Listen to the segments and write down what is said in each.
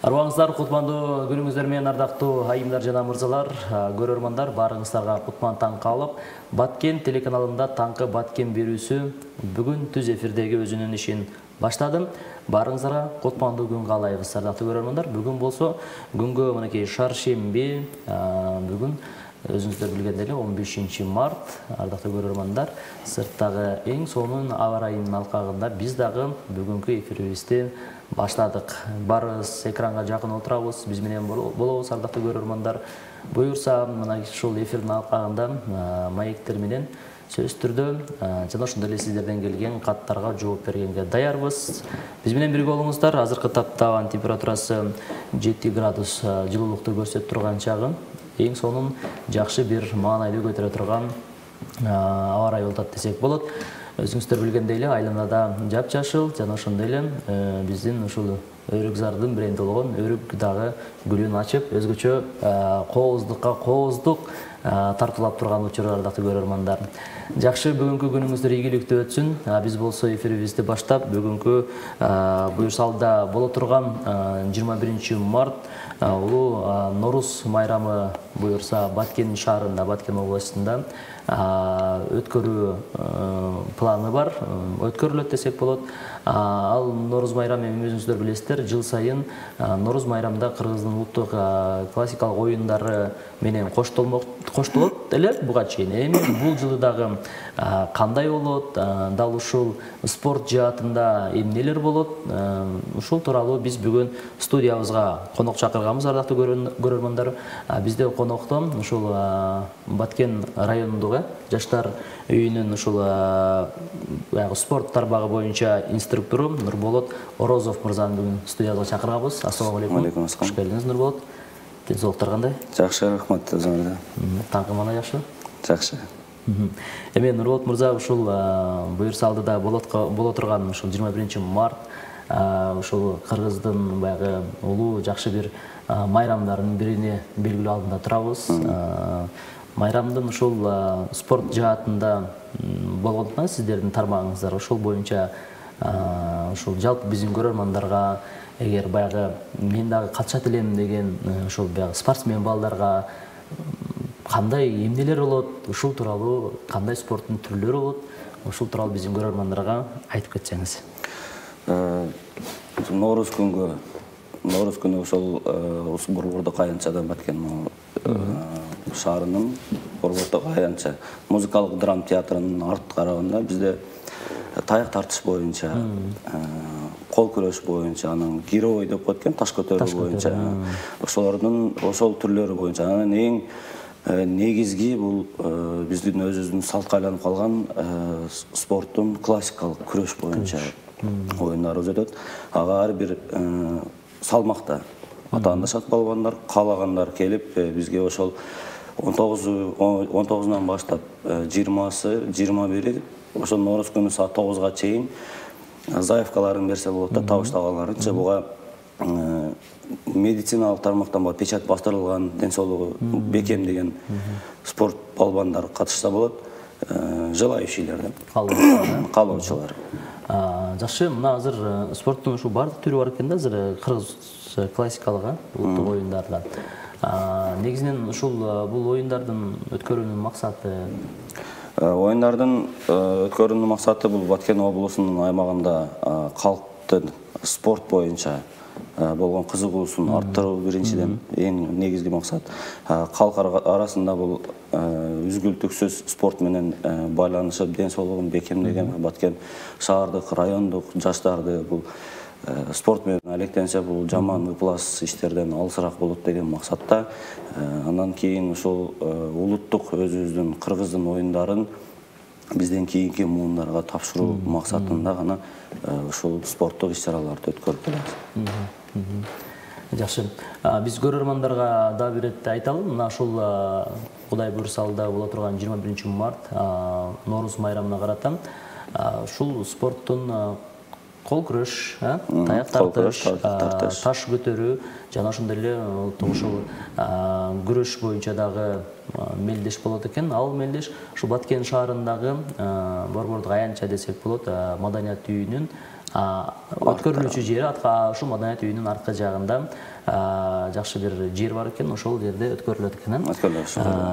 Арбаңыздар кутмандуу күнүңүздөр менен ардактуу айымдар жана мырзалар, көрөрмандар, баарыңыздарга кутман таң калып, Баткен телеканалында таңкы Баткен берүүсү бүгүн түз эфирдеги өзүнүн ишин баштады. Баарыңыздарга кутмандуу күн каалайбыз, ардактуу көрөрмандар. Бүгүн болсо күнгө мынакей шаршемби, бүгүн өзүңүздөр билгендей эле 15 март, ардактуу көрөрмандар, сырттагы эң сонун аба ырайынын алкагында биз дагы бүгүнкү эфирибизди баштадык. Барыбыз экранга жакын отурабыз, биз менен болобуз, ардактуу көрөрмандар. Буюрса, мына ушул эфирдин алкагында маектер менен сөзсүз түрдө жана ошондой эле сиздерден келген каттарга жооп бергенге даярбыз. Биз менен бирге болуңуздар. Азыркы тапта абанын температурасы 7 градус жылуулукту көрсөтүп турган чагы, эң сонун жакшы бир маанайлуу көтөрө турган аба ырайы болот десек болот. Өзүңүздөр билгендей эле айланада жапжашыл жана ошондой эле биздин ушул Өрүкзардын бренди болгон өрүк дагы гүлүн ачып, өзгөчө кооздук тартуулап турган учур, ардактуу көрөрмандар. Жакшы, бүгүнкү күнүңүздөр ийгиликтүү өтсүн. Биз болсо эфирибизди баштап, бүгүнкү буюрсалда боло турган 21 март улуу Нооруз майрамы буюрса Баткен шаарында, Баткен областында өткөрүү планы бар, өткөрүлөт десек болот. Ал Нооруз майрамы, өзүңүздөр билесиздер, жыл сайын Нооруз майрамда Кыргыздын улуттук классикалык оюндары менен коштолот эле буга чейин. Эми бул жылы дагы кандай болот, дал ушул спорт жаатында эмнелер болот, ушул тууралуу биз бүгүн студиябызга конок чакырганбыз, ардактуу көрөрмандар. Бизде коноктон ушул Баткен районундук жаштар үйүнүн ушул спорт тармагы боюнча инструктору Нурболот Орозов мырзаны бүгүн студиябызга чакырганбыз. Ассалому алейкум. Алейкум ассалам. Кош келдиңиз, Нурболот. Денсаулыктар кандай? Жакшы, рахмат, өзүңөрдө. Таңкы мана жакшы? Жакшы. Эми Нурболот мырза, ушул буюрсалдыда боло турган ушул 21 март ушул Кыргыздын баягы улуу жакшы бир майрамдарынын бирине белгилүү алдында турабыз. Майрамдын ушул спорт жаатында болгондуктан сиздердин тармагыңыздар ошол боюнча ушул жалпы биздин көрөрмандарга, эгер баягы мен дагы катышат элем деген ушул баягы спортсмен балдарга кандай эмнелер болот, ушул тууралуу кандай спорттун түрлөрү болот, ушул тууралуу биздин көрөрмандарга айтып кетсеңиз. Нооруз күнү ошол Борбордук аянтчадан Баткен шаарынын Борбордук аянтча музыкалык драма театрынын арт карагында бизде таяк тартыш боюнча, кол күрөш боюнча, анан гирой деп коет экен, таш көтөрүү боюнча, ошол түрлөрү боюнча, анан эң негизги бул биздин өзүбүздүн салтка айланып калган спорттун классикалык күрөш боюнча оюндарыбыз өтөт. Ага ар бир салмакта атаандашат балбандар, каалагандар келип бизге ошол 19-нан баштап 20-сы, 21-и ошол Нооруз күнү саат 9-га чейин заявкаларын берсе болот да, табыштаганларынча. Буга медициналык тармактан печать бастырылган, ден соолугу бекем деген спорт балбандар катышса болот. Желающийлер да, каалоочулар. Жакшы, мына азыр спорттун ушул баардык түрү бар экен да, азыр кыргыз классикалык улуттук оюндарда. Негизинен ушул бул оюндардын өткөрүүнүн максаты? Оюндардын өткөрүүнүн максаты бул Баткен облусунун аймагында калктын спорт боюнча болгон кызыгуусун арттыруу биринчиден эң негизги максат. Калк арасында бул үзгүлтүксүз спорт менен байланышып, ден соолугун бекемдеген Баткен шаардык, райондук жаштарды бул спорт менен алектенсе, бул жаман ыплас иштерден алысыраак болот деген максатта. Андан кийин ушул улуттук өзүбүздүн Кыргыздын оюндарын бизден кийинки муундарга тапшыруу максатында гана ушул спорттук иш-чараларды өткөрүп келебиз. Жакшы. Биз көрөрмандарга да бир ирет айталым. Мына ушул Кудай буюрсалда боло турган 21 март Нооруз майрамына карата ушул спорттун кол күрөш, таяк тартыш, таш көтөрүү жана ошондой эле ушул күрөш боюнча дагы мелдеш болот экен. Ал мелдеш ушул Баткен шаарындагы Борбордук аянтча десек болот, маданият үйүнүн өткөрүлүүчү жери ушул маданият үйүнүн аркы жагында жакшы бир жер бар экен, ошол жерде өткөрүлөт экен.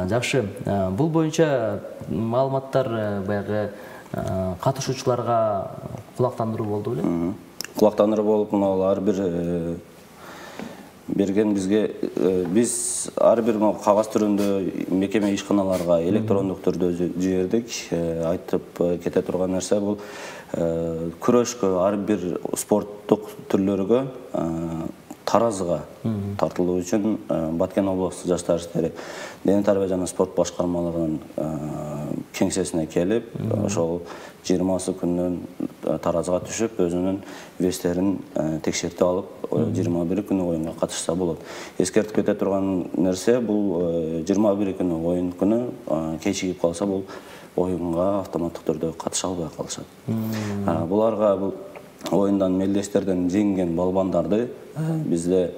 Жакшы. Бул боюнча маалыматтар баягы катышуучуларга кулактандыруу болду беле? Кулактандыруу болуп, мына ар бир берген бизге, биз ар бир кагаз түрүндө мекеме ишканаларга электрондук түрдө жибердик. Айтып кете турган нерсе бул күрөшкө, ар бир спорттук түрлөргө таразыга тартылуу үчүн Баткен облустук жаштар иштери дене тарбия жана спорт башкармалыгынын кеңсесине келип, ошол 20 күндөн таразыга түшүп, өзүнүн вестерин текшертип алып, 21 күнү оюнга катышса болот. Эскертип кете турган нерсе бул 21 күнү оюн күнү кечигип калса, бул оюнга автоматтык түрдө катыша албай калышат. Буларга бул оюндан мелдештерден жеңген балбандарды бизде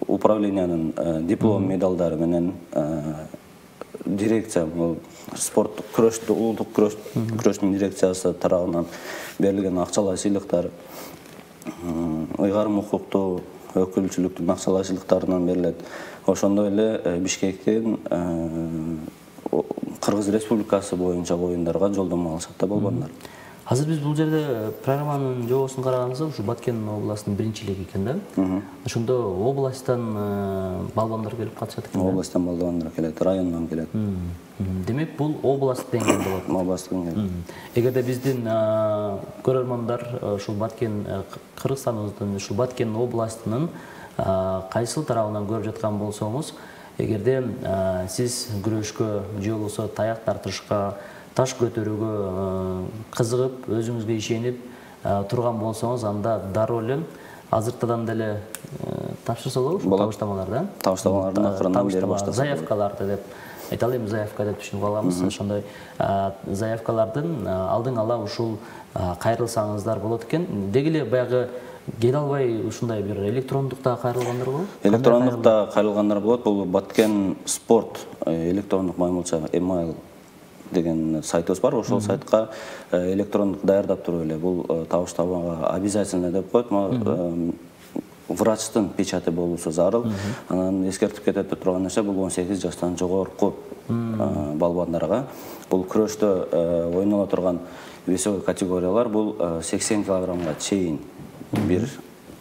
управлениянын диплом медалдары менен дирекция, спорт күрөштү, улуттук күрөштүн дирекциясы тарабынан берилген акчалай сыйлыктар, ыйгарым укуктуу өкүлчүлүктүн акчалай сыйлыктарынан берилет. Ошондой эле Бишкектен Кыргыз Республикасы боюнча оюндарга жолдомо алышат да балбандар. Азыр биз бул жерде программанын жобосун караганыбызда ушу Баткен областынын биринчилиги экен да. Ошондо областтан балбандар келип катышат экен. Областтан балбандар келет, райондон келет. Демек бул областтык деңгээлде болот. Областтык деңгээлде. Эгерде биздин көрөрмандар ушул Баткен Кыргызстаныбыздын ушул Баткен областынын кайсыл тарабынан көрүп жаткан болсоңуз, эгерде сиз күрөшкө же болбосо таяк тартышка, таш көтөрүүгө кызыгып, өзүңүзгө ишенип турган болсоңуз, анда дароо эле азыртадан деле тапшырса болобу ушул табыштамаларды? Табыштамалардын акырынан бери баштаса. Заявкаларды деп айталы, эми заявка деп түшүнүп алабыз. Ошондой заявкалардын алдын ала ушул кайрылсаңыздар болот экен. Деги эле баягы келе албай ушундай бир электрондукта кайрылгандар болобу? Электрондукта кайрылгандар болот. Бул Баткен спорт электрондук маймылча email деген сайтыбыз бар. Ошол сайтка электрондук даярдап туруп эле бул табыштамага обязательно деп коет. Врачтын печати болуусу зарыл. Анан эскертип кете турган нерсе, бул 18 жаштан жогорку балбандарга. Бул күрөштө ойнола турган весовой категориялар бул 80 килограммга чейин бир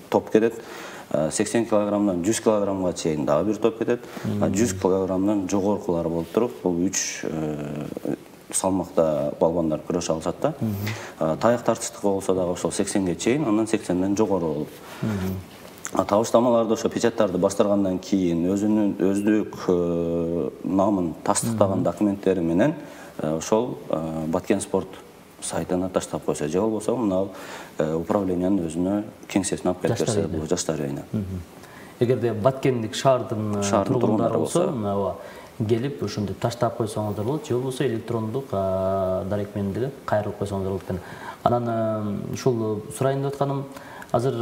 топ кетет. 80 килограммдан 100 килограммга чейин дагы бир топ кетет. 100 килограммдан жогоркулар болуп туруп, бул 3 салмакта балбандар күрөшө алышат да. Таяк тартыштык болсо дагы ошол 80ге чейин, андан 80ден жогору болот. Табыштамаларды, ошо печаттарды бастыргандан кийин өздүк намын тастыктаган документтери менен ошол Баткен спорт сайтына таштап койсо, же болбосо мына управлениянын өзүнө кеңсесине алып келип берсе, бул жаштар үйүнө. Эгерде Баткендик шаардын тургундары болсо, келип ушинтип таштап койсоңуздар болот, же болбосо электрондук дарекменди кайрылып койсоңуздар болот экен. Анан ушул сурайын деп атканым, азыр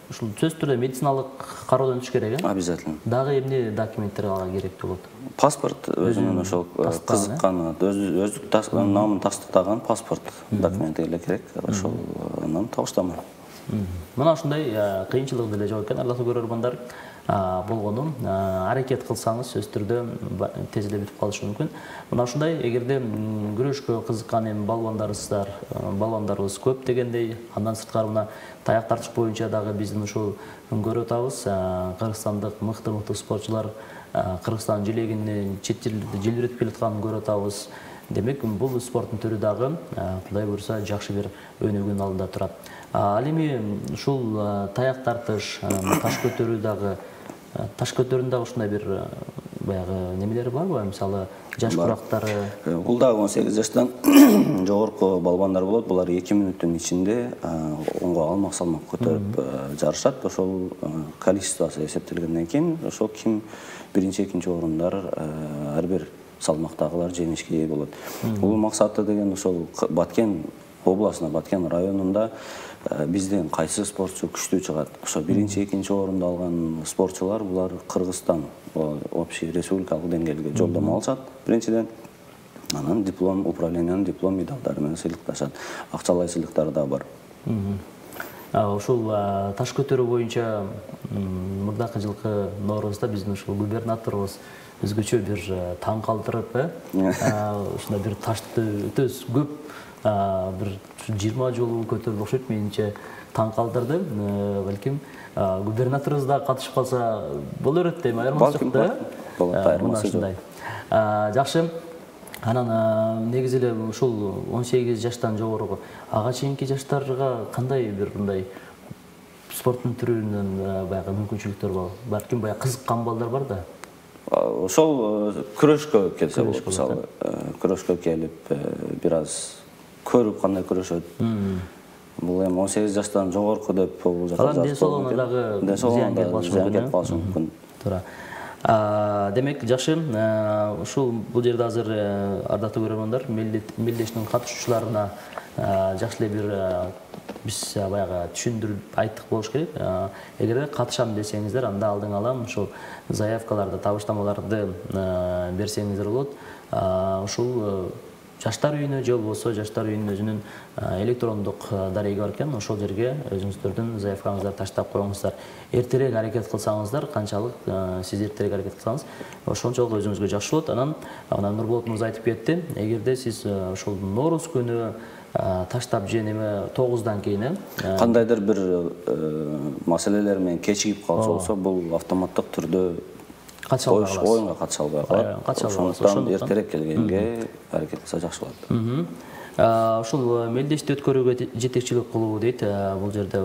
ушул сөзсүз түрдө медициналык кароодон өтүш керек, э? Обязательно. Дагы эмне документтер ага керектүү болот? Паспорт, өзүнүн ошол кызыккан, өздүк намын тастыктаган паспорт документи эле керек. Ошол анан табыштама. Мына ушундай кыйынчылык деле жок экен, арлаттуу көрөрмандар. Болгону аракет кылсаңыз сөзсүз түрдө тез эле бүтүп калышы мүмкүн. Мына ушундай, эгерде күрөшкө кызыккан эми балбандарыбыз көп дегендей, андан сырткары мына таяк тартыш боюнча дагы биздин ушул көрүп атабыз, кыргызстандык мыкты спортчулар Кыргызстан желегинде чет жерлерде желбиретип келатканын көрүп атабыз. Демек, бул спорттун түрү дагы Кудай буйруса жакшы бир өнүгүүнүн алдында турат. Ал эми ушул таяк тартыш, таш көтөрүү дагы, таш көтөрүүнүн дагы ушундай бир баягы немелери барбы? Мисалы, жаш курактары. Бул дагы 18 жаштан жогорку балбандар болот. Булар 2 мүнөттүн ичинде онго алмак салмак көтөрүп жарышат. Ошол количествосы эсептелгенден кийин, ошол ким биринчи, экинчи орундар ар бир салмактагылар жеңишке ээ болот. Бул максаты деген ошол Баткен областына, Баткен районунда бизден кайсы спортчу күчтүү чыгат. Ошо биринчи, экинчи орунду алган спортчулар, булар Кыргызстан общий республикалык деңгээлге жолдомо алышат. Биринчиден, анан диплом, управлениянын диплом медалдары менен сыйлыкташат. Акчалай сыйлыктары да бар. Ушул таш көтөрүү боюнча мурдакы жылкы Ноорузда биздин ушул губернаторубуз өзгөчө бир таң калтырып, ушундай бир ташты өтө көп бир 20 жолу көтөрүп окшойт, менимче таң калтырды. Балким губернаторубуз да катышып калса боло берет дейм, айырмачылык да. Айырмасы жок. Жакшы. Анан негизи эле ушул 18 жаштан жогору ага чейинки жаштарга кандай бир мындай спорттун түрүнөн баягы мүмкүнчүлүктөр бар? Балким баягы кызыккан балдар бар да. Ошол күрөшкө келсе болот, мисалы. Күрөшкө келип, бир аз көрүп кандай күрөшөт. Бул эми 18 жаштан жогорку деп бул жакка жазып. Ден соолугуна дагы зыян келип калышы мүмкүн. Туура. Демек, жакшы, ушул бул жерде азыр ардактуу көрөрмандар, мелдештин катышуучуларына жакшы эле бир биз баягы түшүндүрүп айттык болуш керек. Эгерде катышам десеңиздер, анда алдың ала ушул заявкаларды, табыштамаларды берсеңиздер болот. Ушул жаштар үйүнө же болбосо жаштар үйүнүн өзүнүн электрондук дареги бар экен, ошол жерге өзүңүздөрдүн заявкаңыздарды таштап коюңуздар. Эртерээк аракет кылсаңыздар, канчалык сиз эртерээк аракет кылсаңыз, ошончолук өзүңүзгө жакшы болот. Анан Нурболот мырза айтып кетти, эгерде сиз ошол Нооруз күнү таштап же неме 9-дан кийин кандайдыр бир маселелер менен кечигип калса болсо, бул автоматтык түрдө оюнга катыша албай калат. Ошондуктан эртерээк келгенге аракет кылса жакшы болот. Ушул мелдешти өткөрүүгө жетекчилик кылуу дейт. Бул жерде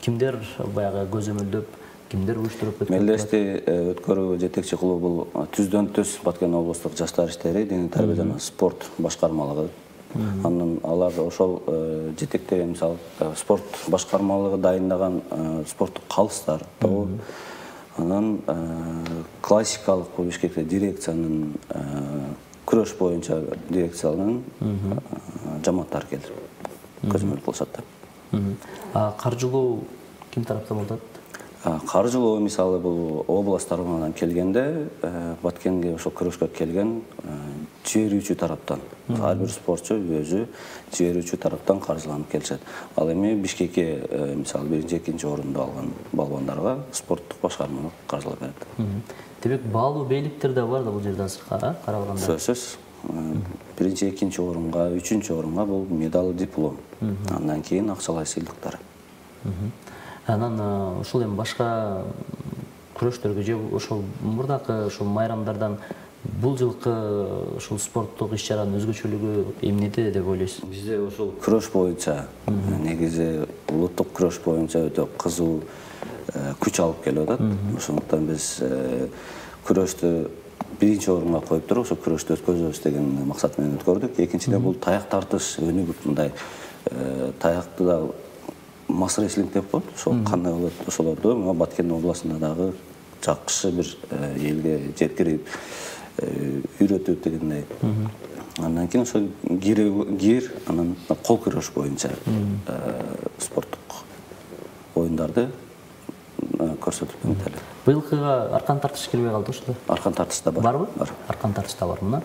кимдер баягы көзөмөлдөп, кимдер уюштуруп өткөрүп? Мелдешти өткөрүүгө жетекчи кылуу бул түздөн түз Баткен облустук жаштар иштери, диний тарбия жана спорт башкармалыгы. Андан алар ошол жетектеген, мисалы, спорт башкармалыгы дайындаган спорттук калыстар. Анан классикалык Бишкекте дирекциянын күрөш боюнча дирекциянын жамааттары келип көзөмөл кылышат да. Каржылоо ким тараптан болот? Каржылоо мисалы бул область тарабынан келгенде, Баткенге ошол күрөшкө келген жиберүүчү тараптан, ар бир спортчу өзү жиберүүчү тараптан каржыланып келишет. Ал эми Бишкекке мисалы 1-2 орунду алган балбандарга спорттук башкарма каржылап берет. Демек, баалуу бейликтер да бар да бул жерде азыркы каралганда? Сөзсүз. 1-2 орунга, 3 орунга бул медаль, диплом. Андан кийин акчалай сыйлыктар. Анан ушул эми башка күрөштөргө же ошол мурдакы ушул майрамдардан бул жылкы ушул спорттук иш-чаранын өзгөчөлүгү эмнеде деп ойлойсуз? Бизде ошол күрөш боюнча, негизи улуттук күрөш боюнча өтө кызуу күч алып келип атат. Ошондуктан биз күрөштү 1-орунга коюп туруп, ошол күрөштү өткөзөбүз деген максат менен өткөрдүк. Экинчиден бул таяк тартыш өнүгүп, мындай таякты да масс реслинг деп коет. Ошол кандай болот, ошолорду Баткен областында дагы жакшы бир элге жеткирип үйрөтүп дегендей. Андан кийин ошол гир, анан кол күрөш боюнча спорттук оюндарды көрсөтүп эмтели. Быйылкыга аркан тартыш кирбей калды ошол. Аркан тартыш да бар. Барбы? Бар. Аркан тартыш да бар мына.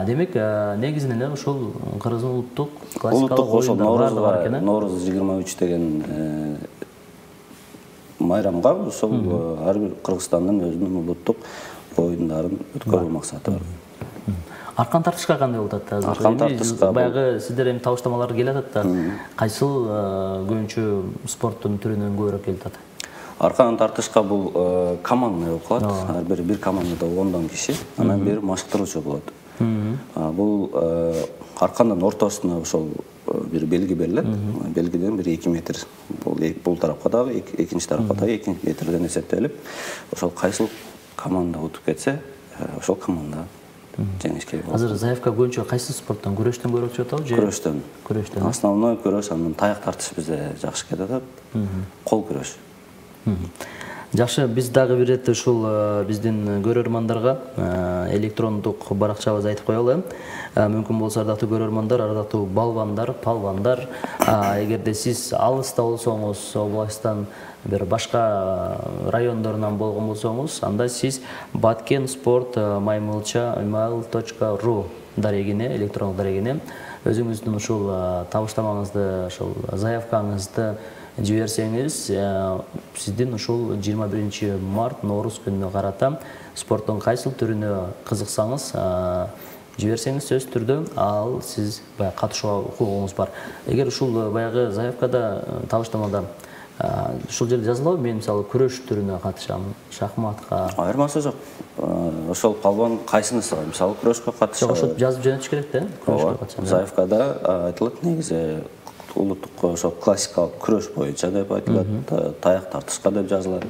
Демек, негизинен эле ошол Кыргыздын улуттук классикалык оюндар бар экен. Нооруз 23 деген майрамга ошол ар бир Кыргызстандын өзүнүн улуттук оюндарын өткөрүү максаты бар. Аркан тартышка кандай болот азыр? Аркан тартышка баягы сиздер эми табыштамалар келип атат да. Кайсыл көбүнчө спорттун түрүнөн көбүрөөк келип атат? Аркан тартышка бул командный болуп калат. Ар бир командада 10 киши, анан бир машыктыруучу болот. Бул аркандын ортосуна ошол бир белги берилет. Белгиден бир 2 метр. Бул тарапка дагы, экинчи тарапка дагы 2 метрден эсептелип, ошол кайсыл команда утуп кетсе, ошол команда жеңишке болот. Азыр заявка боюнча кайсы спорттон? Күрөштөн көбүрөөк чыгып атабы же? Күрөштөн. Күрөштөн. Основной күрөш, анан таяк тартыш бизде жакшы кетип атат. Кол күрөш. Жакшы, биз дагы бир ирет ушул биздин көрөрмандарга электрондук баракчабызды айтып коелу. Мүмкүн болсо ардактуу көрөрмандар, ардактуу балбандар, палбандар, эгерде сиз алыста болсоңуз, областтан бир башка райондорунан болгон болсоңуз, анда сиз Баткен спорт @mail.ru дарегине, электрондук дарегине өзүңүздүн ушул табыштамаңызды, ушул заявкаңызды жиберсеңиз, сиздин ушул 21 март Ноорус күнүнө карата спорттун кайсыл түрүнө кызыксаңыз, жиберсеңиз сөзсүз түрдө ал сиз баягы катышууга укугуңуз бар. Эгер ушул баягы заявкада, табыштамада ушул жерде жазылабы, мен мисалы күрөш түрүнө катышам, шахматка? Айырмасы жок. Ошол палбан кайсынысыга, мисалы күрөшкө катышат. Ошо жазып жөнөтүш керек да, күрөшкө катышам. Заявкада айтылат негизи улуттук ошо классикалык күрөш боюнча деп айтылат, таяк тартышка деп жазылат.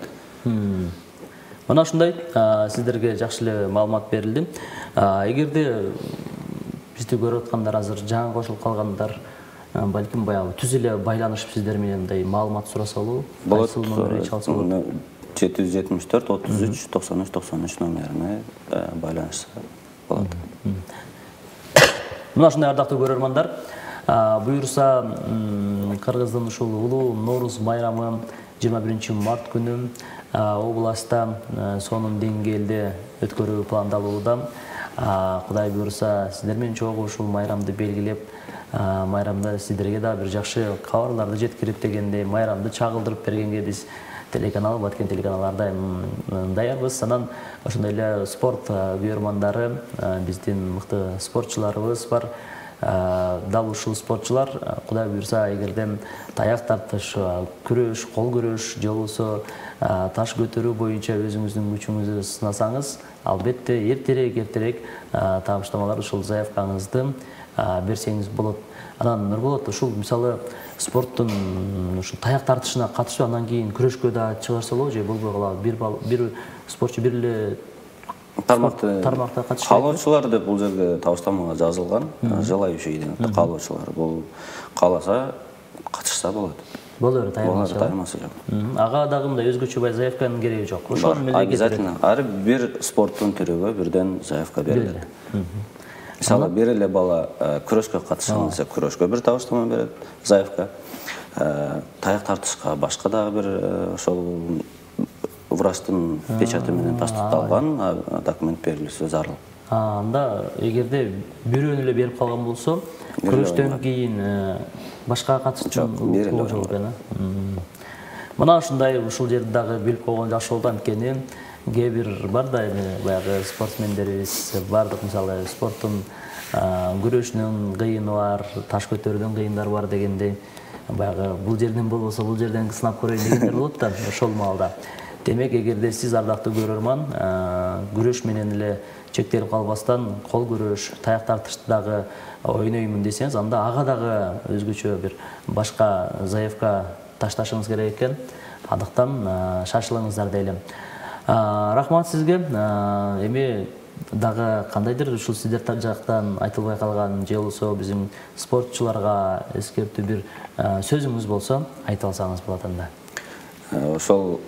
Мына ушундай сиздерге жакшы эле маалымат берилди. Эгерде бизди көрүп аткандар, азыр жаңы кошулуп калгандар, балким баягы түз эле байланышып сиздер менен мындай маалымат сураса болобу? Болот. 774 33 93 93 номерине байланышса болот. Мына ушундай ардактуу көрөрмандар, буюрса Кыргыздын ушул улуу Ноорус майрамы 21 март күнү областта сонун деңгээлде өткөрүү пландалууда. Кудай буюрса, сиздер менен чогуу ушул майрамды белгилеп, майрамда сиздерге да бир жакшы кабарларды жеткирип дегендей, майрамды чагылдырып бергенге биз телеканал, Баткен телеканалы ардайым даярбыз. Анан ошондой эле спорт күйөрмандары, биздин мыкты спортчуларыбыз бар. Дал ушул спортчулар, Кудай буюрса, эгерден таяк тартыш, күрөш, кол күрөш же болбосо таш көтөрүү боюнча өзүңүздүн күчүңүздү сынасаңыз, албетте эртерээк табыштамалар ушул заявкаңызды берсеңиз болот. Анан Нурболот, ушул мисалы спорттун ушул таяк тартышына катышып, андан кийин күрөшкө да чыгарса болобу же болбой калабы? Бир спортчу бир эле тармакта катышат. Каалоочулар деп бул жерге табыштамага жазылган. Желающий деген каалоочулар. Бул кааласа катышса болот. Болор, таймасы жок. Ага дагы мындай өзгөчө заявканын кереги жок. Ошол менен обязательно ар бир спорттун түрүгө бирден заявка берилет. Мисалы, бир эле бала күрөшкө катышкан болсо, күрөшкө бир табыштама берет, заявка. Таяк тартышка башка дагы бир ошол врачтын печаты менен тастыкталган документ берилүүсү зарыл. Анда эгерде бирөөнү эле берип калган болсо, күрөштөн кийин башка катыштын укугу жок экен. Мына ушундай ушул жерди дагы билип койгон жакшы болду, анткени кээ бир бар да эми баягы спортсмендерибиз бардык, мисалы спорттун күрөшүнүн кыйыны бар, таш көтөрүүдөн кыйындары бар дегендей, баягы бул жерден болбосо бул жерден сынап көрөйүн дегендер болот да ошол маалда. Демек, эгерде сиз ардактуу көрөрман, күрөш менен эле чектелип калбастан, кол күрөш, таяк тартышты дагы ойноймун десеңиз, анда ага дагы өзгөчө бир башка заявка ташташыңыз керек экен. Андыктан шашылыңыздар дейлим. Рахмат сизге. Эми дагы кандайдыр ушул сиздер жактан айтылбай калган же болбосо биздин спортчуларга эскертүү бир сөзүңүз болсо айта алсаңыз болот анда. Ошол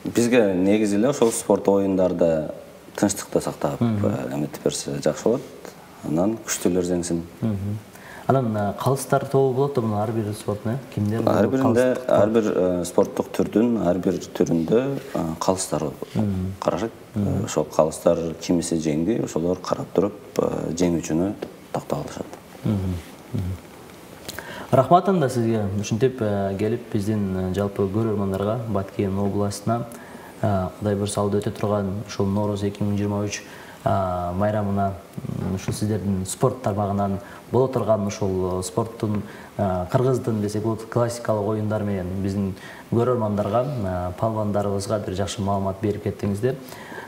бизге негизи эле ошол спорт оюндарда тынчтыкты сактап эметип берсе жакшы болот. Анан күчтүүлөр жеңсин. Анан калыстар тобу болот да, ар бир спорттун, кимдер? Ар бир спорттук түрдүн ар бир түрүндө калыстар карашат. Ошол калыстар кимиси жеңди, ошолор карап туруп жеңүүчүнү тактап алышат. Рахмат анда сизге ушинтип келип биздин жалпы көрөрмандарга Баткен областына Кудай буюрса өтө турган ушул Ноорус 2023 майрамына ушул сиздердин спорт тармагынан боло турган ушул спорттун кыргыздын десек болот классикалык оюндар менен биздин көрөрмандарга, палвандарыбызга бир жакшы маалымат берип кеттиңиздер.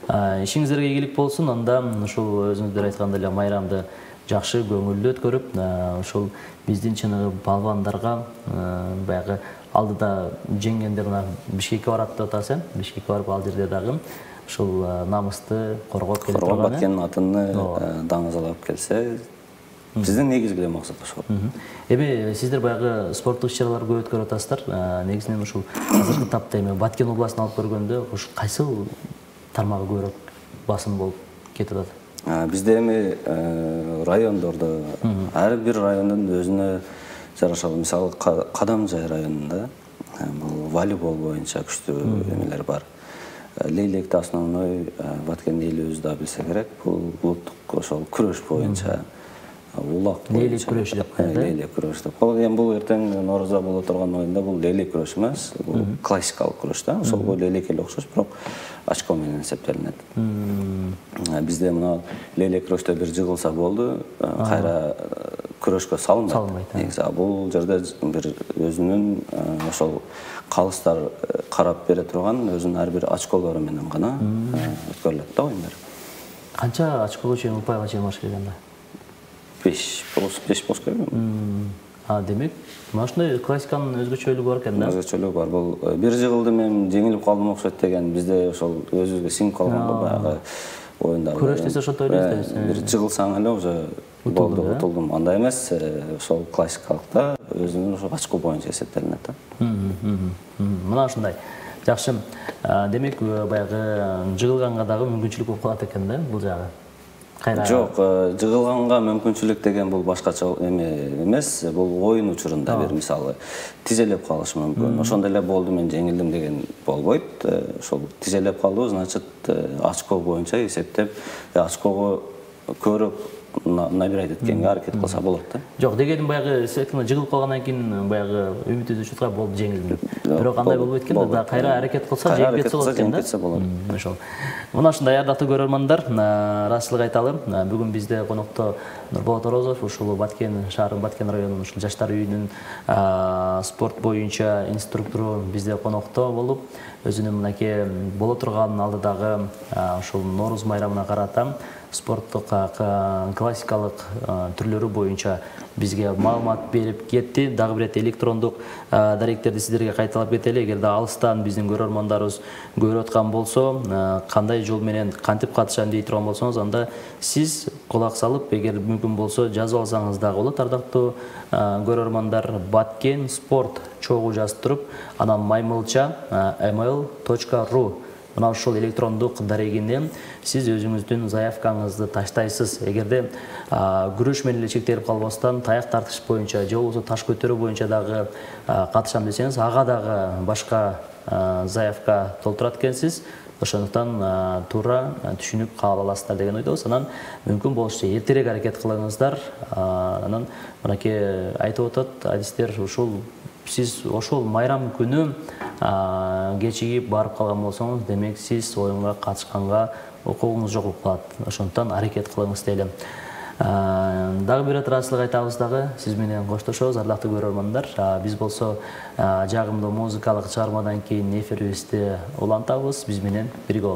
Ишиңиздерге ийгилик болсун. Анда ушул өзүңүздөр айткандай эле майрамды жакшы көңүлдүү өткөрүп, ушул биздин чыныгы палвандарга баягы алдыда жеңгендер мына Бишкекке барат деп атасың. Бишкекке барып ал жерде дагы ушул намысты коргоп келип турган. Баткендин атын даңазалап келсе, биздин негизги максат ошол. Эми сиздер баягы спорттук иш-чаралар көп өткөрүп атасыздар. Негизинен ушул азыркы тапта эми Баткен областын алып көргөндө ушу кайсыл тармагы көбүрөөк басым болуп кетип атат? Бизде эми райондордо ар бир райондун өзүнө жараша, мисалы Кадамжай районунда бул волейбол боюнча күчтүү эмелер бар. Лейлекте основной Баткен элибиз да билсе керек, бул улуттук ошол күрөш боюнча улак Лейлек күрөшү деп коет, лейлек күрөш деп. Бул эртең Норозда боло турган оюнда бул лейлек күрөш эмес, бул классикалык күрөш да. Ошого лейлек эле окшош, бирок очко менен эсептелинет. Бизде мына лейлек күрөштө бир жыгылса болду, кайра күрөшкө салынбайт. Негизи бул жерде бир өзүнүн ошол калыстар карап бере турган өзүнүн ар бир очколору менен гана өткөрүлөт да оюндар. Канча очкого чейин, упайга чейин баш келгенде? 5 болуш керек. Демек, мына ушундай классиканын өзгөчөлүгү бар экен да? Өзгөчөлүгү бар. Бул бир жыгылды мен жеңилип калдым окшойт деген бизде ошол өзүбүзгө сиңип калган баягы оюндар. Күрөш десе ошентип ойлойбуз да. Бир жыгылсаң эле уже болду, утулдум. Андай эмес, ошол классикалыкта өзүнүн ошо очко боюнча эсептелинет да. Мына ушундай. Жакшы. Демек, баягы жыгылганга дагы мүмкүнчүлүк болуп калат экен да бул жагы. Жок, жыгылганга мүмкүнчүлүк деген бул башкача эмес, бул оюн учурунда бир мисалы тизелеп калышы мүмкүн. Ошондой эле болду, мен жеңилдим деген болбойт. Ошол тизелеп калуу, значит, очко боюнча эсептеп, очкого көбүрөөк набирать эткенге аракет кылса болот да. Жок, дегеним баягы секунд жыгылып калгандан кийин баягы үмүт үзүп турган болду жеңилдим деп. Бирок андай болбойт экен да, кайра аракет кылса жеңип кетсе болот экен да. Ошол. Мына ушундай ардактуу көрөрмандар, ыраазычылык айталы. Бүгүн бизде конокто Нурболот Орозов, ушул Баткен шаарынын Баткен районунун ушул жаштар үйүнүн спорт боюнча инструктору бизде конокто болуп, өзүнүн мынакей боло турган алдыдагы ушул Нооруз майрамына карата спорттук классикалык түрлөрү боюнча бизге маалымат берип кетти. Дагы бир электрондук даректерди сиздерге кайталап кетели. Эгерде алыстан биздин көрөрмандарыбыз көрүп аткан болсо, кандай жол менен кантип катышам дей турган болсоңуз, анда сиз кулак салып, эгер мүмкүн болсо жазып алсаңыз дагы болот. Ардактуу көрөрмандар, Баткен спорт чогуу жазып туруп, анан маймылча email.ru мына ушул электрондук дарегине сиз өзүңүздүн заявкаңызды таштайсыз. Эгерде күрөш менен эле чектелип калбастан, таяк тартыш боюнча же болбосо таш көтөрүү боюнча дагы катышам десеңиз, ага дагы башка заявка толтурат экенсиз. Ошондуктан туура түшүнүп кабыл аласыздар деген ойдобуз. Анан мүмкүн болушунча эртерээк аракет кылыңыздар. Анан мынакей айтып атат адистер, ушул сиз ошол майрам күнү кечигип барып калган болсоңуз, демек сиз оюнга катышканга укугуңуз жок болуп калат. Ошондуктан аракет кылыңыз дейли. Дагы бир ыраазычылык айтабыз дагы, сиз менен коштошобуз, ардактуу көрөрмандар. Биз болсо жагымдуу музыкалык чыгармадан кийин эфирибизди улантабыз. Биз менен бирге болуңуздар.